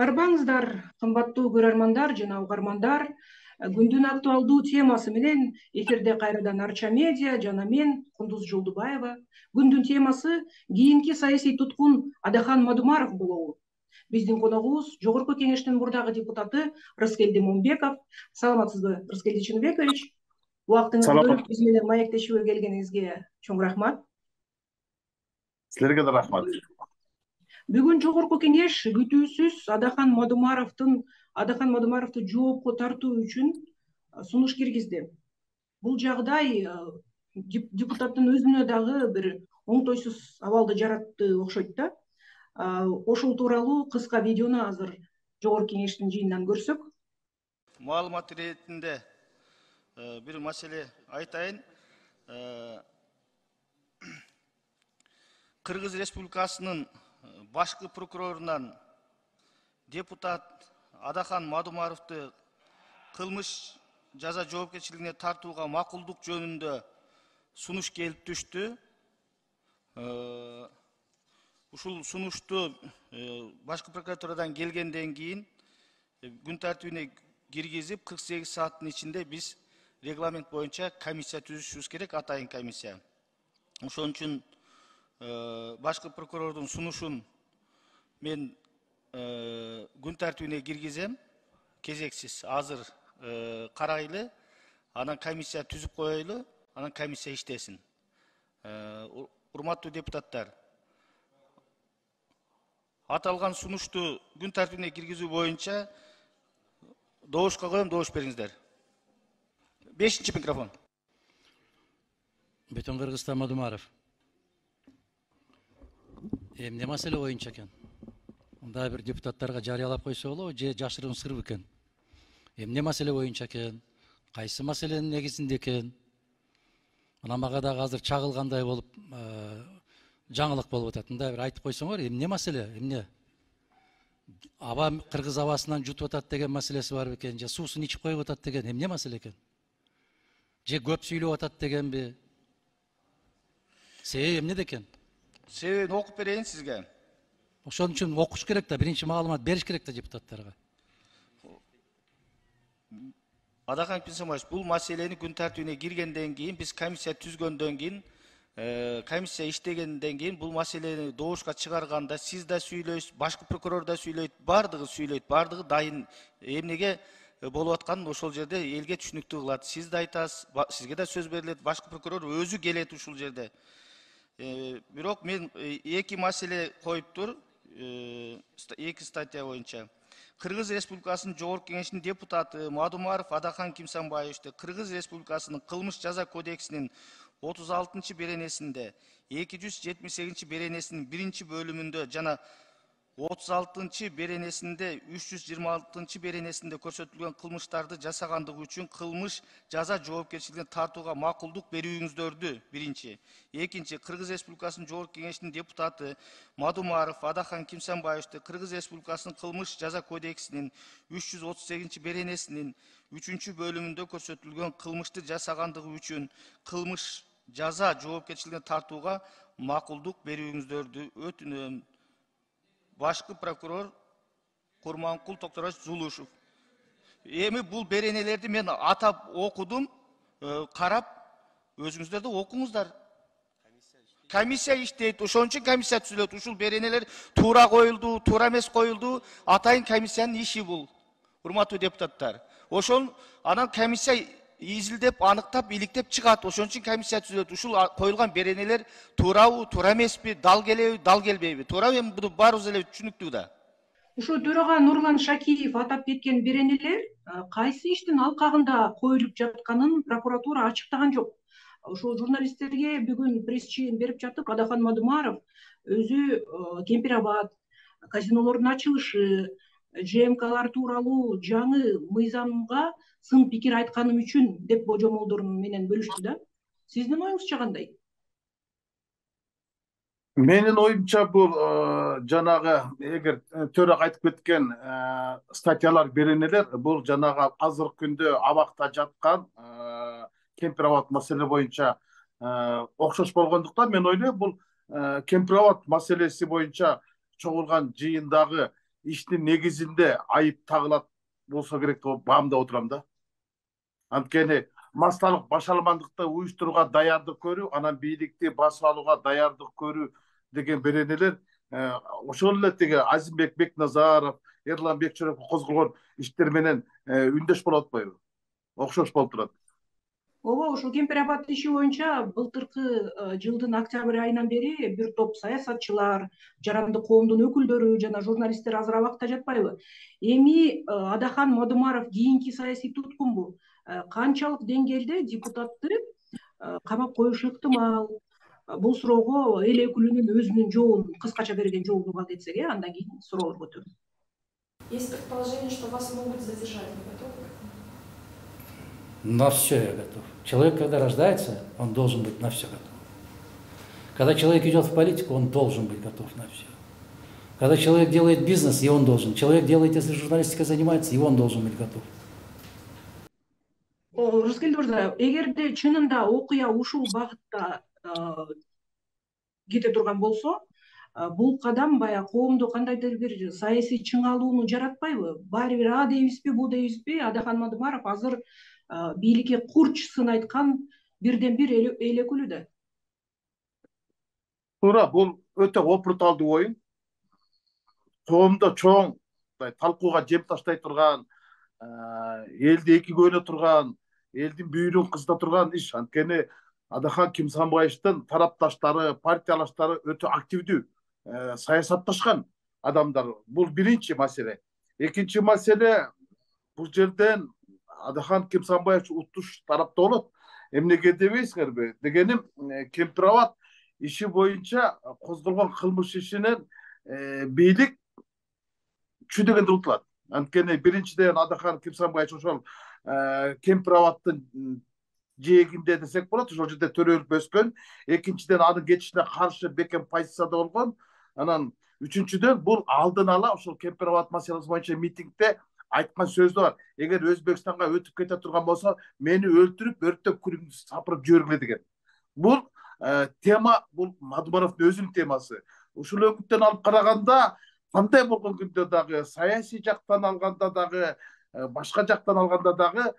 Арбаңыздар, кымбаттуу көрөрмандар жана угармандар. Күндүн актуалдуу темасы менен эфирде кайрадан Арча медиа жана мен Кундуз Жолдубаева. Күндүн темасы кийинки саясий туткун Адахан Мадумаров болобу. Биздин коногубуз Жогорку Кеңештин мурдагы депутаты Рыскелди Момбеков. Саламатсызбы, Рыскелди Чыныбекович? Убактыңызды бөлүп биз менен маектешүүгө келгениңизге чоң рахмат. Силерге да рахмат. Бүгүн Жогорку Кеңеш күтүүсүз Адахан Мадумаровду жоопко тартуу үчүн сунуш киргизди. Бул жагдай депутаттын өзүнө дагы бир оңтойсуз абалды жаратты окшойт да. Ошол тууралуу кыска видеону азыр Жогорку Кеңештин жыйынынан көрсөк. Маалымат иретинде бир маселе айтайын. Кыргыз Республикасынын башкы прокурорунан депутат Адахан Мадумаровду кылмыш жаза жоопкерчилигине тартууга макулдук жөнүндө сунуш келип түштү. Ушул сунушту башкы прокуратурадан келгенден кийин күн тартибине киргизип 48 сааттын ичинде биз регламент боюнча комиссия түзүшүбүз керек, атайын комиссия. Ошон үчүн башкы прокурордун сунушун мен күн тартибине киргизем, кезексиз азыр карайлы, анан комиссия түзүп коелу, анан комиссия иштесин. Урматтуу депутаттар, аталган сунушту күн тартибине киргизүү боюнча добушка коем, добуш бериңиздер. 5-чи микрофон. Бүтүн Кыргызстан Мадумаров. Эмне маселе боюнча экен? Мындай бир депутаттарга жарыялап койсо болобу же жашыруун сыр экен? Эмне маселе боюнча экен? Кайсы маселенин негизинде экен? Мына мага дагы азыр чагылгандай болуп, жаңылык болуп атат. Мындай бир айтып койсоңор, эмне маселе? Эмне? Аба кыргыз абасынан жутуп атат деген маселеси бар бекен? Же суусун ичип коюп атат деген эмне маселе экен? Же көп сүйлөп атат дегенби? Себеби эмнеде экен? Себебин окуп берейин сизге. Ошон үчүн окуш керек да, биринчи маалымат бериш керек да депутаттарга. Адахан Пинсамович, бул маселени күн тартибине киргенден кийин, биз комиссия түзгөндөн кийин, комиссия иштегенден кийин бул маселени добушка чыгарганда сиз да сүйлөйсүз, башкы прокурор да сүйлөйт, бардыгы дайын эмнеге болуп атканын ошол жерде элге түшүнүктүү кылат. Сиз да айтасыз, сизге да сөз берилет, башкы прокурор өзү келет ушул жерде. Бирок мен эки маселе коюптур, эки статья боюнча. Кыргыз Республикасынын Жогорку Кеңешинин депутаты Мадумаров Адахан Кимсанбаевичти Кыргыз Республикасынын кылмыш жаза кодексинин 36 беренесинде, 278 беренесинин 1 бөлүмүндө жана 36 беренесинде, 326 беренесинде көрсөтүлгөн кылмыштарды жасагандыгы үчүн кылмыш жаза жоопкерчилигине тартууга макулдук берүүңүздөрдү биринчи. Экинчи, Кыргыз Республикасынын Жогорку Кеңешинин депутаты Мадумаров Адахан Кимсанбаевичти Кыргыз Республикасынын кылмыш жаза кодексинин 338 беренесинин 3 бөлүмүндө көрсөтүлгөн кылмышты жасагандыгы үчүн кылмыш жаза жоопкерчилигине тартууга макулдук берүүңүздөрдү өтүнөм. Башкы прокурор Курманкул Токторович Зулушев. Эми бул беренелерди мен атап окудум, карап, өзүңүздөр да окуңуздар. Комиссия иштейт, ошон үчүн комиссия түзүлөт. Ушул беренелер туура коюлду, туура эмес коюлду, атайын комиссиянын иши бул. Урматтуу депутаттар. Ошон анан комиссия изилдеп, аныктап, иликтеп чыгат. Ошон үчүн комиссия түзүлөт. Ушул коюлган беренелер туурабы, туура эмеспи, дал келеби, дал келбейби? Туурабы? Эми буну баарыбыз эле түшүнүктүү да. Ушул төрага Нурлан Шакиев атап кеткен беренелер кайсы иштин алкагында коюлуп жатканын прокуратура ачыктаган жок. Ошол журналисттерге бүгүн пресс-чыйын берип жатып, Адахан Мадумаров өзү Кемпирабад казинолордун ачылышы, ЖМКлар тууралуу жаңы мыйзамга сын пикир айтканым үчүн деп божомолдорун менен бөлүштү да. Сиздин оюңузча кандай? Менин оюмча бул жанагы эгер төрага айтып кеткен статьялар, беренелер бул жанагы азыркы күндө абакта жаткан Кемпирабад маселе боюнча окшош болгондуктан мен ойлойм бул Кемпирабад маселеси боюнча чогулган жыйындагы иштин негизинде айып тагылат болсо керек деп баамдап отурам да. Анткени массалык башаламандыкты уюштурууга даярдык көрүү, анан бийликти басып алууга даярдык көрүү деген беренелер ошол эле тиги Азимбек Бекназаров, Эрлан Бекчөрөков козголгон иштер менен үндөш болуп атпайбы? Окшош болуп турат. Ооба, ушул Кемпир Абад иши боюнча былтыркы жылдын октябрь айынан бери бир топ саясатчылар, жарандык коомдун өкүлдөрү жана журналисттер азыр абакта жатпайбы? Эми Адахан Мадумаров кийинки саясий туткунбу? Канчалык деңгээлде депутатты камап коюшу ыктымал? Бул суроого эл өкүлүнүн өзүнүн жообун, кыскача берген жообун угат этсек, андан кийин суроолор көтөрөлөт. Есть предположение, что вас могут задержать. Вы готовы? На все я готов. Человек, когда рождается, он должен быть на все готов. Когда человек идет в политику, он должен быть готов на все. Когда человек делает бизнес, и он должен. Человек делает, если журналистикой занимается, и он должен быть готов. Рыскелди мырза, эгерде чынында окуя ушул багытта кете турган болсо, бул кадам баягы коомдо кандайдыр бир саясий чыңалууну жаратпайбы? Баары бир а дейбизби, бу дейбизби, Адахан Мадумаров азыр бийликке курчсын айткан бирден бир эл өкүлү да. Туура, бул өтө опурталдуу оюн. Коомдо чоң талкууга жем таштай турган, элди эки көйнө турган, элдин бүйүрүн кызыта турган иш. Анткени Адахан Кимсанбаевдин тарапташтары, партиялаштары өтө активдүү саясатташкан адамдар. Бул биринчи маселе. Экинчи маселе, бул жерден Адахан Кимсанбаев уттуш тарапта болот. Эмнеге дебейсиңерби? Дегеним, Кемпир Абад иши боюнча козголгон кылмыш ишинен бийлик чүйдөгөндө утулат. Анткени биринчиден Адахан Кимсанбаев ошол Кемпир Абадтын жээгинде десек болот, ошол жерде төрөлүп өскөн. Экинчиден анын кетишине каршы бекем позицияда болгон. Анан үчүнчүдөн бул алдын ала ошол Кемпир Абад маселеси боюнча митингде айткан сөзү бар. Эгер Өзбекстанга өтүп кете турган болсо, мени өлтүрүп, өрттөп, күлүмдү сапырып жибергиле деген. Бул тема, бул Мадумаровдун өзүнүн темасы. Ушул өңүттөн алып караганда, кандай болгон күндө дагы, саясий жактан алганда дагы, башка жактан алганда дагы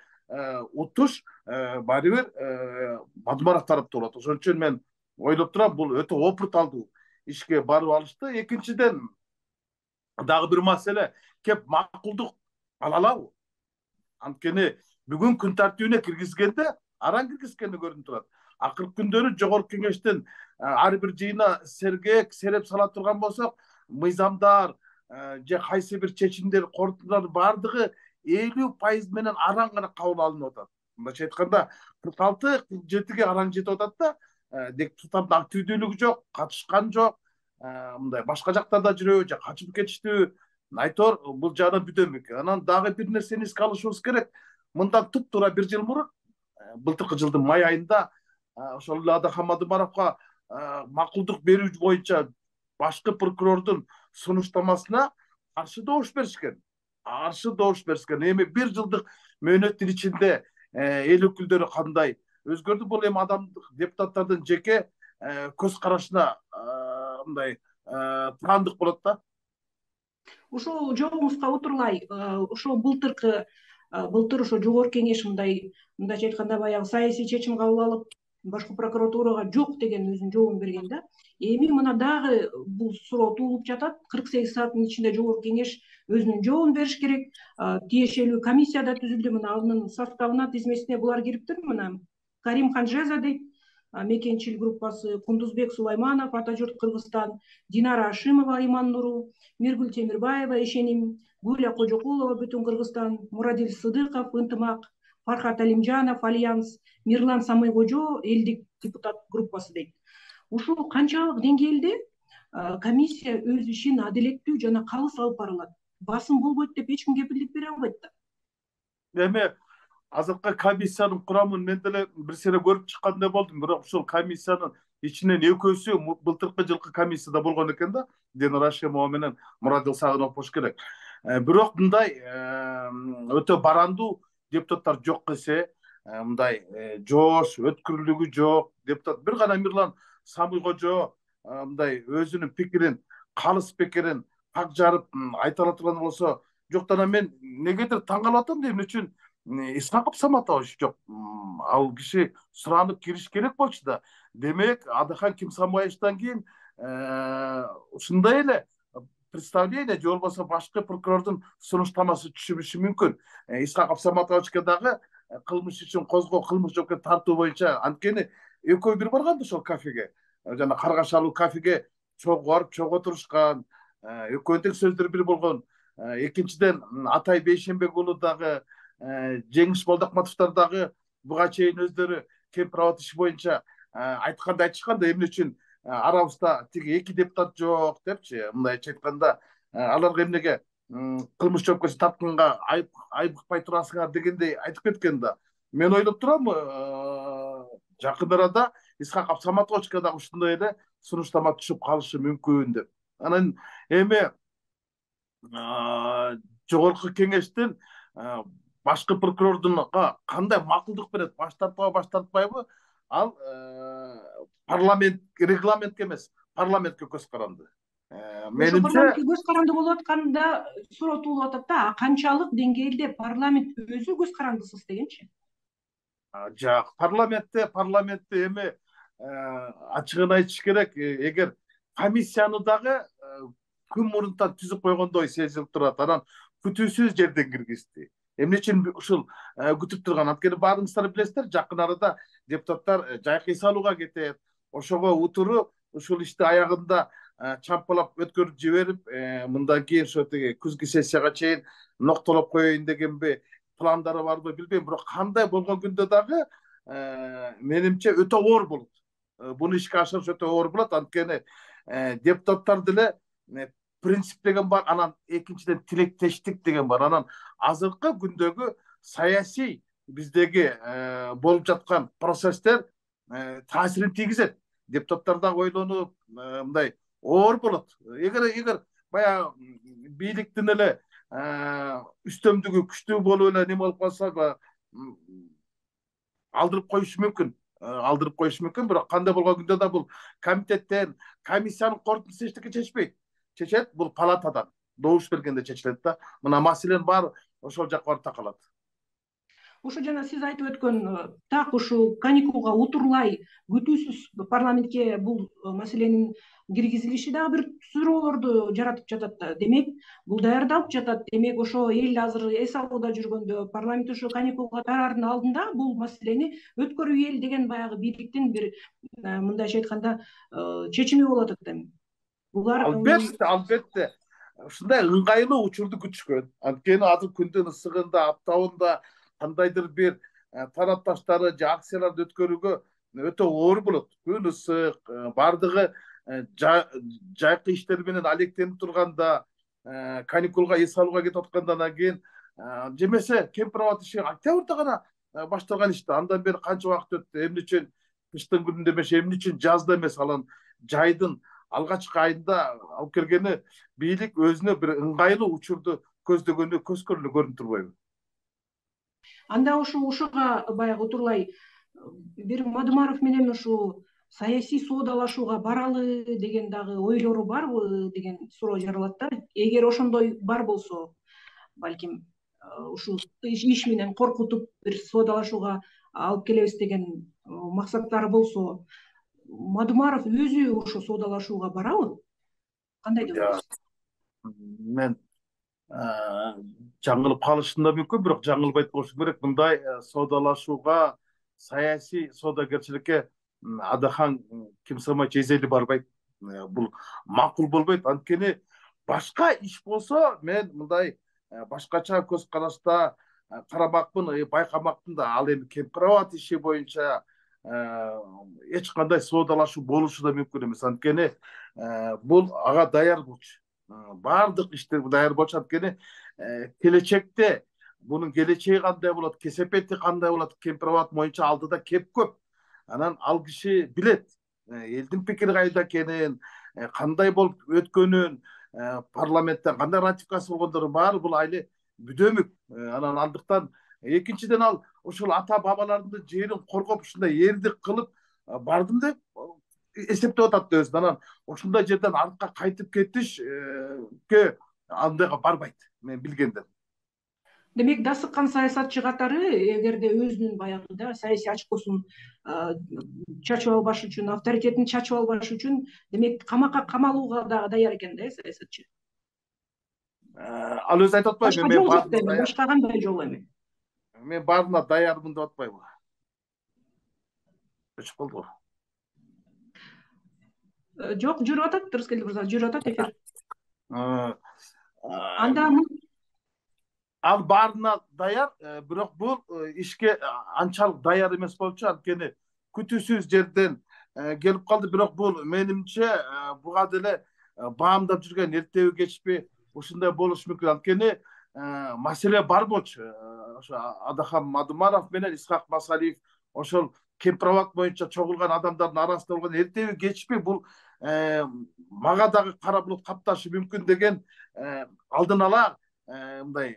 утуш баары бир Мадумаров тарапта болот. Ошон үчүн мен ойлоп турам, бул өтө опурталдуу ишке барып алышты. Экинчиден дагы бир маселе, кеп макулдук ала алабы? Анткени бүгүн күн тартибине киргизгенде араң киргизгени көрүнүп турат. Акыркы күндөрү жогорку кеңештин ар бир жыйына сергек сереп сала турган болсок, мыйзамдар же кайсы бир чечимдер, корутундардын баардыгы 50% менен араң гана кабыл алынып атат. Мындайча айтканда 46-47-ге араң жетип атат да, депутаттардын активдүүлүгү жок, катышкан жок, мындай башка жактарда жүрөбү же качып кетиштүү. Айтор бул жагынан бүдөмүк. Анан дагы бир нерсени эске алышыбыз керек. Мындан туп-туура бир жыл мурун, былтыркы жылдын май айында ошол эле Адахан Мадумаровго макулдук берүү боюнча башкы прокурордун сунуштамасына каршы добуш беришкен. Эми бир жылдык мөөнөттүн ичинде эл өкүлдөрү кандай өзгөрдү? Бул эми адамдык депутаттардын жеке көз карашына мындай таандык болот да. Ушул жообуңузга утурлай, ошо былтыр ошо жогорку кеңеш мындайча айтканда баягы саясий чечим кабыл алып, башкы прокуратурага жок деген өзүнүн жообун берген да. Эми мына дагы бул суроо туулуп жатат. 48 сааттын ичинде жогорку кеңеш өзүнүн жообун бериш керек. Тиешелүү комиссия да түзүлдү. Мына анын составына, тизмесине булар кириптир. Мына Карим Ханжеза дейт, Мекенчил группасы, Кундузбек Сулайманов, Ата журт Кыргызстан, Динара Ашимова, Иман Нуру, Миргүл Темирбаева, Ишеним, Гуля Кожокулова, Бүтүн Кыргызстан, Мурадил Сыдыков, Ынтымак, Фархат Алимжанов, Альянс, Мирлан Самыйкожо, элдик депутат группасы дейт. Ушул канчалык деңгээлде комиссия өз ишин адилеттүү жана калыс алып бара алат? Басым болбойт деп эч ким кепилдик бере албайт да. Эми азыркы комиссиянын курамын мен деле бир сере көрүп чыккандай болдум, бирок ушул комиссиянын ичинен экөөсү былтыркы жылкы комиссияда болгон экен да, Динара Ашимова менен Мурадил Сагынов болуш керек. Бирок мындай өтө барандуу депутаттар жок эсе, мындай жоош, өткүрлүгү жок депутат. Бир гана Мирлан Самыйкожо мындай өзүнүн пикирин, калыс пикирин так жарып айта ала турган болсо, жок, анан мен негедир таң калып атам да, эмне үчүн Исхаков Саматович жок, ал киши суранып кириш керек болчу да. Демек, Адахан Кимсанбаевичтан кийин ушундай эле представление же болбосо башкы прокурордун сунуштамасы түшүрүшү мүмкүн. Исхаков Саматовичке дагы кылмыш үчүн козгоо, кылмыш жоопкерчиликке тартуу боюнча, анткени экөө бир барган да ошол кафеге, жана Каргашалуу кафеге чогуу барып чогуу отурушкан, экөөнүн тең сөздөрү бир болгон. Экинчиден, Атай Бейшенбек уулу дагы, Жеңиш Молдокматовдор дагы буга чейин өздөрү кемпир иши боюнча айтканда айтышкан да, эмне үчүн арабызда тиги 2 депутат жок депчи, мындайча айтканда, аларга эмнеге кылмыш жоопкерчиликке тартканга айыпкпай турасыңар дегендей айтып кеткен да. Мен ойлоп турам, жакын арада Исхаков Саматовичке дагы ушундай эле сунуштама түшүп калышы мүмкүн деп. Анан эми жогорку кеңештин башкы прокурордунга кандай макулдук берет, баш тартпайбы, баш тартпайбы, ал регламентке эмес, парламентке көз каранды. Менимче парламентке көз каранды болуп атканда суроо атат да, канчалык деңгээлде парламент өзү көз карандысыз дегенчи? Жок, парламентте эми ачыгын айтыш керек, эгер комиссияны дагы күн мурунтан түзүп койгондой сезилип турат, анан күтүүсүз жерден киргизди. Эмне үчүн ушул күтүп турган? Анткени баарыңыздар билесиздер, жакын арада депутаттар жайкы салууга кетет. Ошого утуру ушул ишти аягында чампалап өткөрүп жиберип, мындан кийин ошо тиги күзгү сессияга чейин ноктолоп коеюн дегенби пландары барбы билбейм, бирок кандай болгон күндө дагы менимче өтө оор болот. Буну ишке ашырыш өтө оор болот, анткени депутаттар деле принцип деген бар, анан экинчиден тилектештик деген бар. Анан азыркы күндөгү саясий биздеги болуп жаткан процесстер таасирин тийгизет. Депутаттар дагы ойлонуп, мындай оор болот. Эгер баягы бийликтин эле үстөмдүгү күчтүү болуп эле неме болуп калса, алдырып коюшу мүмкүн, бирок кандай болгон күндө да бул комитеттен, комиссиянын корутундусу эчтеке чечпейт. Чечет бул палатадан добуш бергенде чечилет да. Мына маселенин баары ошол жакка барып такалат. Ошо жана сиз айтып өткөн так ушул каникулга утурлай күтүүсүз парламентке бул маселенин киргизилиши дагы бир суроолорду жаратып жатат. Демек, бул даярдалып жатат. Демек, ошо эл азыр эс алууда жүргөндө, парламент ошо каникулга тараардын алдында бул маселени өткөрүү эл деген баягы бийликтин бир мындайча айтканда чечими болот атат. Булар албетте ушундай ыңгайлуу учурду күтүшкөн. Анткени азыр күндүн ысыгында, аптабында кандайдыр бир тарапташтары же акцияларды өткөрүүгө өтө оор болот. Күн ысык, бардыгы жайкы иштер менен алектенип турганда, каникулга эс алууга кетип аткандан кийин, жемесе кемпир иши октябрда гана башталган ишти. Андан бери канча убакыт өттү? Эмне үчүн кыштын күнүндө эмес, эмне үчүн жазда эмес, алан жайдын алгачкы айында алып келгени бийлик өзүнө бир ыңгайлуу учурду көздөгөнү көрүнүп турбайбы? Анда ушуга баягы утурлай бир Мадумаров менен ушу саясий соодалашууга баралы деген дагы ойлору барбы деген суроо жаралат да. Эгер ошондой бар болсо, балким ушул иш менен коркутуп бир соодалашууга алып келебиз деген максаттары болсо, Мадумаров өзү ошо соодалашууга барабы? Кандай деп ойлойсуз? Мен жаңылып калышым да мүмкүн, бирок жаңылбайт болушум керек. Мындай соодалашууга, саясий соодагерчиликке Адахан Кимсанбаевич эзели барбайт. Бул макул болбойт. Анткени башка иш болсо, мен мындай башкача көз карашта карамакмын, байкамакмын да. Ал эми кемпир иши боюнча эч кандай соодалашуу болушу да мүмкүн эмес. Анткени бул ага даяр болчу. Баардык иштер даяр болчу. Анткени келечекте бунун келечеги кандай болот, кесепети кандай болот, кемпир боюнча алдыда кеп көп. Анан ал киши билет элдин пикири кайда экенин, кандай болуп өткөнүн, парламенттен кандай ратификация болгондорун баары бул айли бүдөмүк. Анан андыктан экинчиден ал ушул ата бабалардын жерин коргоп, ушундай эрдик кылып бардым деп эсептеп атат өзүн. Анан ушундай жерден артка кайтып кетишке андайга барбайт мен билгенден. Демек да сыккан саясатчы катары эгерде өзүнүн баягы да саясий очкосун чачып албаш үчүн, авторитетин чачып албаш үчүн демек камакка камалууга дагы даяр экен да саясатчы. Ал өзү айтып атпайбы, Башка жол жок дейм, башка кандай жол эми? Мен баарына даярмын деп атпайбы? Өчүп калдыбы? Жок, жүрүп атат, Рыскелди мырза, жүрүп атат эфир. Анда ал баарына даяр, бирок бул ишке анчалык даяр эмес болчу, анткени күтүүсүз жерден келип калды. Бирок бул менимче буга деле баамдап жүргөн эртеби кечпи ушундай болушу мүмкүн. Анткени маселе бар болчу. Ошо Адахам Мадумаров менен Исхак Масалиев ошол Кемпир-Абад боюнча чогулган адамдардын арасында болгон эртеби кечпи бул мага дагы кара булут капташы мүмкүн деген алдын ала мындай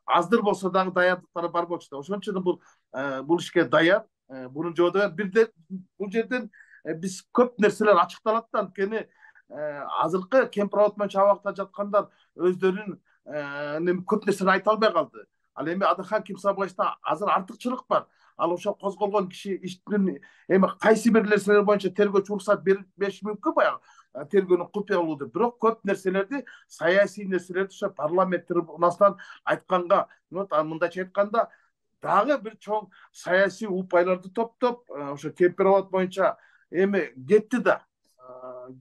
аздыр болсо дагы даярдыктары бар болчу да. Ошон үчүн бул ишке даяр. Бунун жобу даяр. Бул жерден биз көп нерселер ачыкталат да, анткени азыркы Кемпир-Абад боюнча абакта жаткандар өздөрүнүн көп нерсени айта албай калды. Ал эми Адахам Кимсабаевда азыр артыкчылык бар. Ал ошол козголгон киши иштин эми кайсы бир нерселер боюнча тергөөчү уруксат бериши мүмкүн баягы тергөөнүн купуялуу деп. Бирок көп нерселерди, саясий нерселерди ошо парламент трибунасынан айтканга, мындайча айтканда, дагы бир чоң саясий упайларды топтоп, ошо Кемпир-Абад боюнча эми кетти да.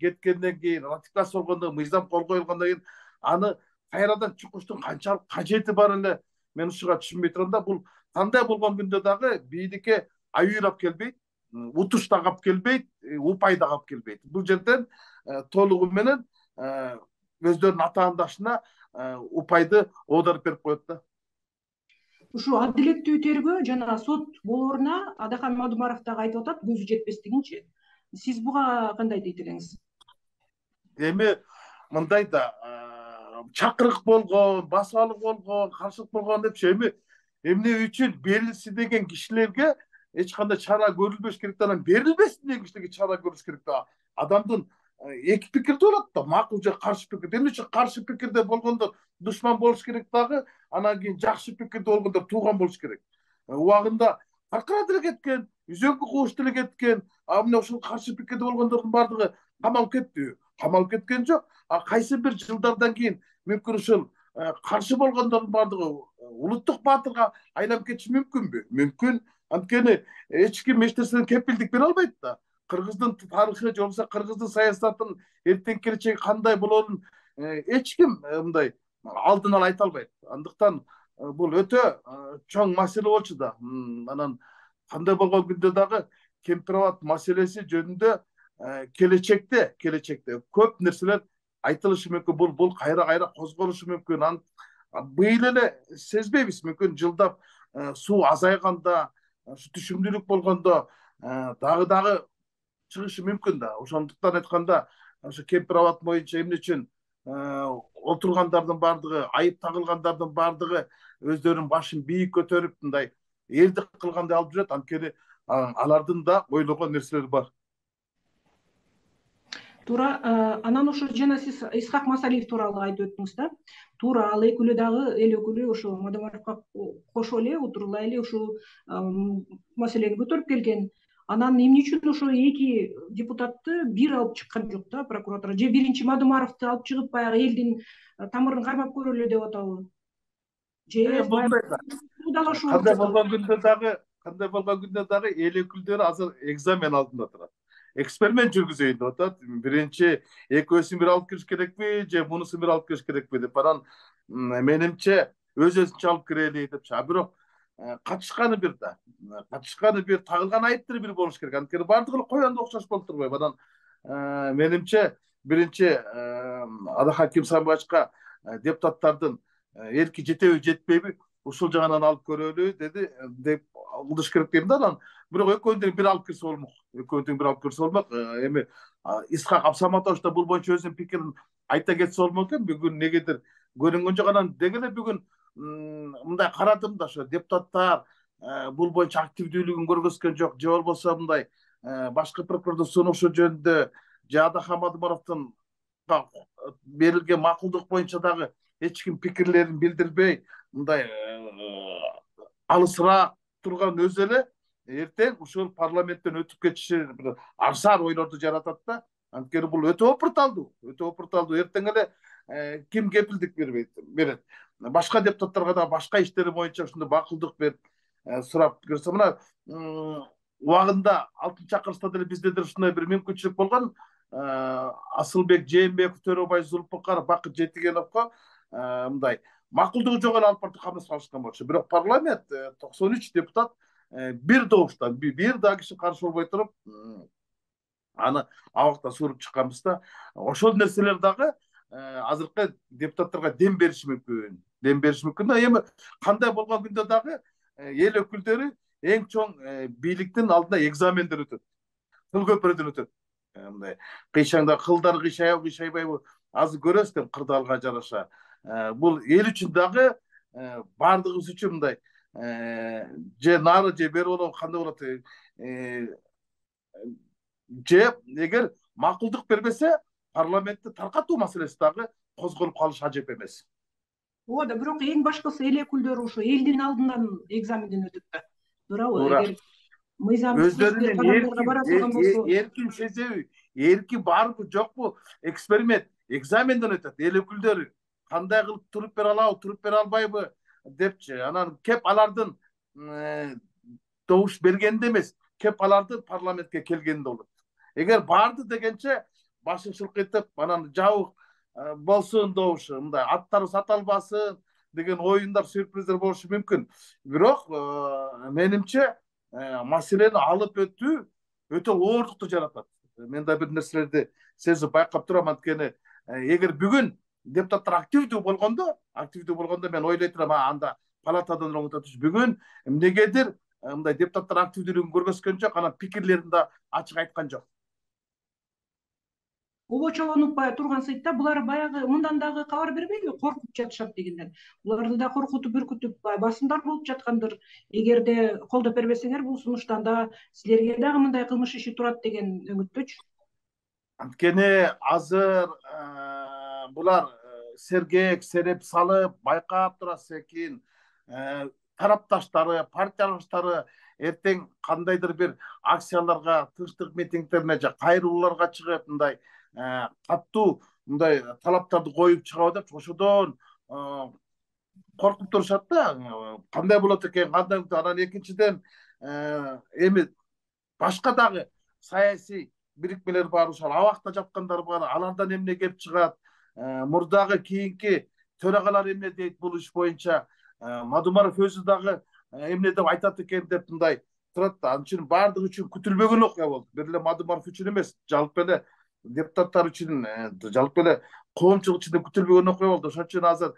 Кеткенден кийин, ратификация болгондон кийин, мыйзам кол коюлгондон кийин аны кайрадан чукуштун канчалык кажети бар эле мен ушуга түшүнбөй турам да. Бул кандай болгон күндө дагы бийдикке аюурап келбейт, утуш да калып келбейт, упай да калып келбейт. Бул жерден толугу менен өздөрүнүн атаандашына упайды оодарып берип коет да. Ушу адилеттүү тергөө жана сот болооруна Адахам Мадумаров дагы айтып атат, көзү жетпестигинчи. Сиз буга кандай дейт элеңиз? Эми мындай да, чакырык болгон, басалык болгон, каршылык болгон депчи эми эмне үчүн берилси деген кишилерге эч кандай чара көрүлбөш керек да, анан берилбесин деген кишилерге чара көрүш керек да. Адамдын эки пикирде болот да, макул же каршы пикир. Эмне үчүн каршы пикирде болгондор душман болуш керек дагы, анан кийин жакшы пикирде болгондор тууган болуш керек. Убагында таркыраа деле кеткен, Үзөңкү Кууш деле кеткен, мына ошол каршы пикирде болгондордун баардыгы камалып кетти. Камалып кеткен жок. Кайсы бир жылдардан кийин мүмкүн ушул каршы болгондордун баардыгы улуттук баатырга айланып кетиши мүмкүнбү? Мүмкүн. Анткени эч ким эч нерседен кепилдик бере албайт да. Кыргыздын тарыхы же болбосо кыргыздын саясатынын эртеңки келечеги кандай болоорун эч ким мындай алдын ала айта албайт. Андыктан бул өтө чоң маселе болчу да. Анан кандай болгон күндө дагы Кемпир-Абад маселеси жөнүндө келечекте көп нерселер айтылышы мүмкүн. Бул кайра козголушу мүмкүн. Быйыл эле сезбейбиз, мүмкүн жылдап суу азайганда, түшүмдүүлүк болгондо дагы чыгышы мүмкүн да. Ошондуктан айтканда, ошо Кемпир-Абад боюнча эмне үчүн отургандардын баардыгы, айып тагылгандардын баардыгы өздөрүнүн башын бийик көтөрүп, мындай элдик кылгандай алып жүрөт. Анткени алардын да ойлогон нерселери бар. Туура. Анан ошо жана сиз Исхак Масалиев тууралуу айтып өттүңүз да. Туура, ал экөөлүү дагы эл өкүлү ошо Мадумаровго кошо эле отурула эле ушул маселени көтөрүп келген. Анан эмне үчүн ошо эки депутатты бир алып чыккан жок да прокуратура? Же биринчи Мадумаровду алып чыгып баягы элдин тамырын кармап көрөлү деп атабы? Же кандай болгон күндө дагы эл өкүлдөрү азыр экзамен алдында турат. Эксперимент жүргүзөйүн деп атат. Биринчи экөөсүн бир алып кириш керекпи, же мунусун бир алып кириш керекпи деп. Анан менимче өзүнчө алып кирели депчи. Бирок катышканы бир да. Катышканы бир, тагылган айыптыр бир болуш керек. Анткени баардыгы коянды окшош болуп турбайбы? Анан менимче биринчи Адахам Кимсабаевга депутаттардын эрки жетеби жетпейби ушул жагынан алып көрөлү деп кылыш керек дейм да. Анан бирок экөөндөн бир алып кирсе болмок. Эми Исхак Абсаматович да бул боюнча өзүнүн пикирин айта кетсе болмок экен. Бүгүн негедир көрүнгөн жок. Анан деги эле бүгүн мындай карадым да, ошо депутаттар бул боюнча активдүүлүгүн көргөзгөн жок, же болбосо мындай башкы прокурордун сунушу жөнүндө Жада Хамадмаровдун берилген макулдук боюнча дагы эч ким пикирлерин билдирбей мындай алысыраак турган өзү эле эртең ушул парламенттен өтүп кетиши бир арсаар ойлорду жаратат да. Анткени бул өтө опурталдуу, эртең эле ким кепилдик берет. Башка депутаттарга да башка иштери боюнча ушундай макулдук берип сурап көрсө, мына убагында алтын чакырышта деле бизде деле ушундай бир мүмкүнчүлүк болгон. Асылбек Жээнбеков, Төрөбай Зулпукаров, Бакыт Жетигеновго мындай макулдугу жок эле алып барып камасына алышкан болчу. Бирок парламент 93 депутат бир добуштан бир да киши каршы болбой туруп аны абакта суруп чыкканбыз да. Ошол нерселер дагы азыркы депутаттарга дем бериши мүмкүн. Эми кандай болгон күндө дагы эл өкүлдөрү эң чоң бийликтин алдында экзамендер өтөт. Кыл көпүрөдөн өтөт. Мындай кыйшаңда кылдар кыйшайбайбы азыр көрөсүздөр кырдаалга жараша. Бул эл үчүн дагы баардыгыбыз үчүн мындай же нары же бери болобу кандай болот, же эгер макулдук бербесе парламентти таркатуу маселеси дагы козголуп калышы ажеп эмес. Ооба, бирок эң башкысы эл өкүлдөрү ушу элдин алдынан экзаменден өтөт да. Туурабы? Эгер өздөрүнүн эркин сезеби, эрки барбы жокпу, эксперимент, экзаменден өтөт. Эл өкүлдөрү кандай кылып туруп бере алабы, туруп бере албайбы депчи. Анан кеп алардын добуш бергенде эмес, кеп алардын парламентке келгенде болот. Эгер барды дегенче башын шылкыйтып, анан жабык болсун добушу, мындай аттары саталбасын деген оюндар, сюрприздер болушу мүмкүн. Бирок менимче маселени алып өтүү өтө оорлукту жаратат. Мен да бир нерселерди сезип байкап турам. Анткени эгер бүгүн депутаттар активдүү болгондо мен ойлой турам, анда палатадан оңототуш. Бүгүн эмнегедир мындай депутаттар активдүүлүгүн көргөзгөн жок, анан пикирлерин да ачык айткан жок. Обочолонуп турган сыйтта булар баягы мындан дагы кабар бербейби, коркуп жатышат дегенден. Буларды да коркутуп бүркүтүп басымдар болуп жаткандыр. Эгерде колдоп бербесеңер бул сунуштан да силерге дагы мындай кылмыш иши турат деген үмүттөчү. Анткени азыр булар сергек сереп салып байкап турасыз экен. Тарапташтары, партиялаштары эртең кандайдыр бир акцияларга, тынчтык митингдерине же кайрылууларга чыгып, мындай каттуу мындай талаптарды коюп чыгабы деп ошодон коркуп турушат да. Кандай болот экен, кандай. Анан экинчиден эми башка дагы саясий бирикмелер бар, ошол абакта жаткандар бар. Алардан эмне кеп чыгат? Мурдагы кийинки төрагалар эмне дейт бул иш боюнча? Мадумаров өзү дагы эмне деп айтат экен деп мындай турат да. Анын үчүн баардыгы үчүн күтүлбөгөн окуя болду. Бир эле Мадумаров үчүн эмес, жалпы эле депутаттар үчүн, жалпы эле коомчулук үчүн күтүлбөгөн окуя болду. Ошон үчүн азыр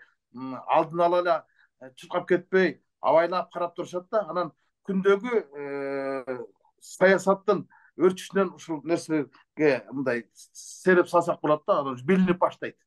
алдын ала эле чуркап кетпей абайлап карап турушат да. Анан күндөгү саясаттын өрчүшүнөн ушул нерсеге мындай сереп салсак болот да, анан билинип баштайт.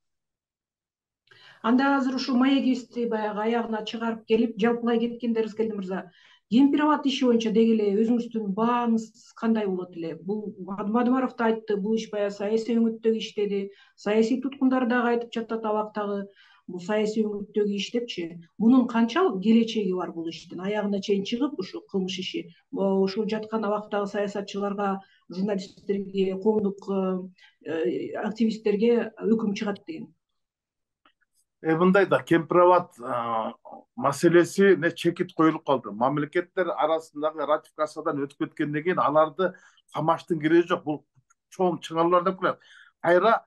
Анда азыр ушул маегибизди баягы аягына чыгарып келип, жалпылай кеткенде Рыскелди мырза, Кемпироват иши боюнча деги эле өзүңүздүн бааңыз кандай болот эле? Бул Мадумаров да айтты, бул иш баягы саясий өңүттөгү иш деди. Саясий туткундар дагы айтып жатат абактагы бул саясий өңүттөгү иш депчи. Мунун канчалык келечеги бар бул иштин? Аягына чейин чыгып ушул кылмыш иши ушул жаткан абактагы саясатчыларга, журналисттерге, коомдук активисттерге өкүм чыгат деген. Мындай да, Кемпироват маселеси чекит коюлуп калды. Мамлекеттер арасындагы ратификациядан өтүп кеткенден кийин аларды камаштын кереги жок. Бул чоң чыңалуулар деп коет. Кайра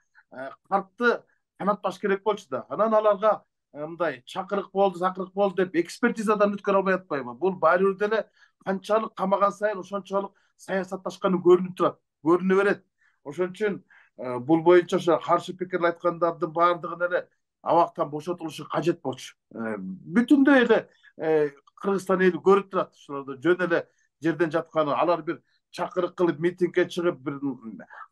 картты канатпаш керек болчу да. Анан аларга мындай чакырык болду деп экспертизадан өткөрө албай атпайбы? Бул баары бир деле канчалык камаган сайын ошончолук саясатташканы көрүнүп турат, көрүнө берет. Ошон үчүн бул боюнча ошо каршы пикир айткандардын баардыгын эле абактан бошотулушу кажет болчу. Бүтүндөй эле Кыргызстан эли көрүп турат ошолорду жөн эле жерден жатканы. Алар бир чакырык кылып митингге чыгып бир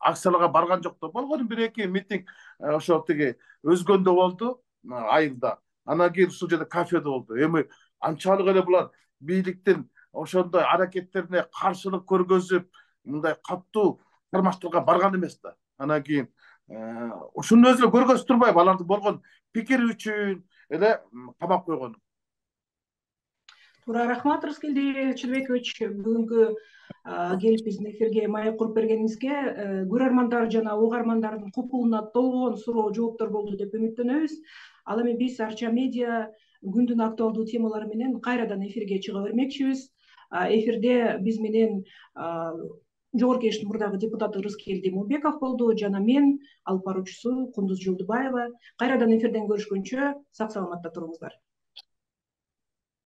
акцияларга барган жок да. Болгон бир эки митинг ошо тиги өзгөндө болду айылда. Анан кийин ушул жерде кафеде болду. Эми анчалык эле булар бийликтин ошондой аракеттерине каршылык көргөзүп, мындай катуу кармаштыкка барган эмес да. Анан кийин ушунун өзү эле көргөзүп турбайбы алардын болгон пикири үчүн эле камап койгон. Туура, рахмат Рыскелди Чынбекович, бүгүнкү келип биздин эфирге маек куруп бергениңизге. Көрөрмандар жана угармандардын купулуна толгон суроо жооптор болду деп үмүттөнөбүз. Ал эми биз Арча медиа күндүн актуалдуу темалары менен кайрадан эфирге чыга бермекчибиз. Эфирде биз менен Жогорку Кеңештин мурдагы депутаты Рыскелди Момбеков болду жана мен алып баруучусу Кундуз Жолдубаева. Кайрадан эфирден көрүшкөнчө сак саламатта туруңуздар.